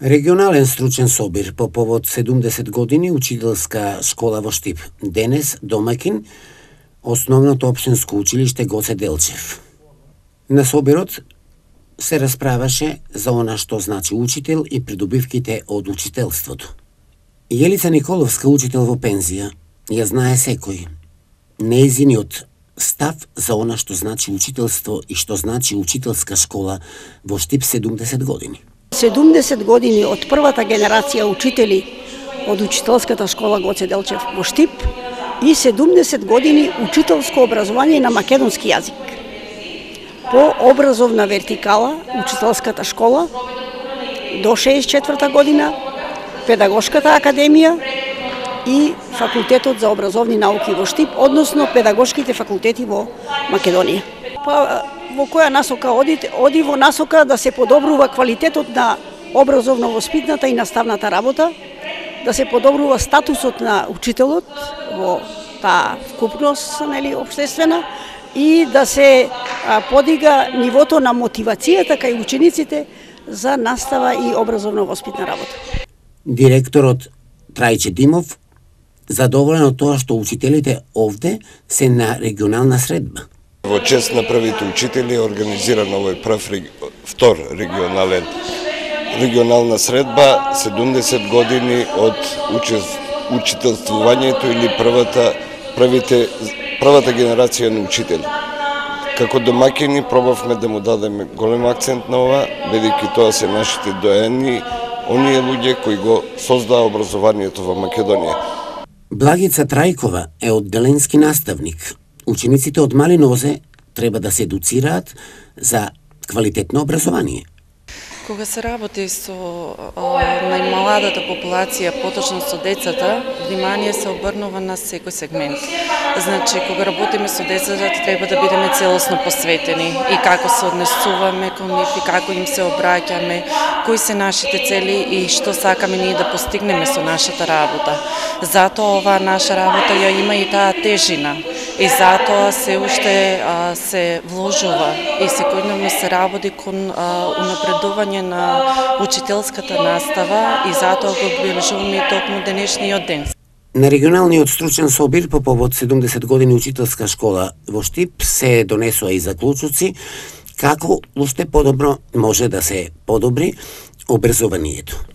Регионален стручен собир по повод 70 години учителска школа во Штип. Денес домаќин Основното општинско училиште Гоце Делчев. На собирот се расправаше за она што значи учител и придобивките од учителството. Јелица Николовска, учител во пензија, ја знае секој. Нејзиниот став за она што значи учителство и што значи учителска школа во Штип 70 години. 70 години од првата генерација учители од учителската школа Гоце Делчев во Штип и 70 години учителско образование на македонски јазик. По образовна вертикала, учителската школа до 64 година, педагошката академија и факултетот за образовни науки во Штип, односно педагошките факултети во Македонија. Во која насока оди во насока да се подобрува квалитетот на образовно-воспитната и наставната работа, да се подобрува статусот на учителот во таа вкупност, општествена, и да се подига нивото на мотивацијата кај учениците за настава и образовно-воспитна работа. Директорот Трајче Димов задоволен од тоа што учителите овде се на регионална средба. Во чест на првите учители е организиран овој втор регионална средба, 70 години од учителствувањето или првата генерација на учители. Како домаќини пробавме да му дадеме голем акцент на ова, бидејќи тоа се нашите доени, оние луѓе кои го создаа образованието во Македонија. Благица Трајкова е одделенски наставник. Учениците од мали нозе треба да се едуцираат за квалитетно образование. Кога се работи со најмаладата популација, поточно со децата, внимание се обрнува на секој сегмент. Значи, кога работиме со децата, треба да бидеме целосно посветени и како се однесуваме кон нив и како им се обраќаме, кои се нашите цели и што сакаме ние да постигнеме со нашата работа. Затоа оваа наша работа ја има и таа тежина и затоа се уште се вложува и секојдневно се работи кон унапредување на учителската настава и затоа го обележуваме и токму денешниот ден. На регионалниот стручен собир по повод 70 години учителска школа во Штип се донесоа и заклучоци како уште подобро може да се подобри образованието.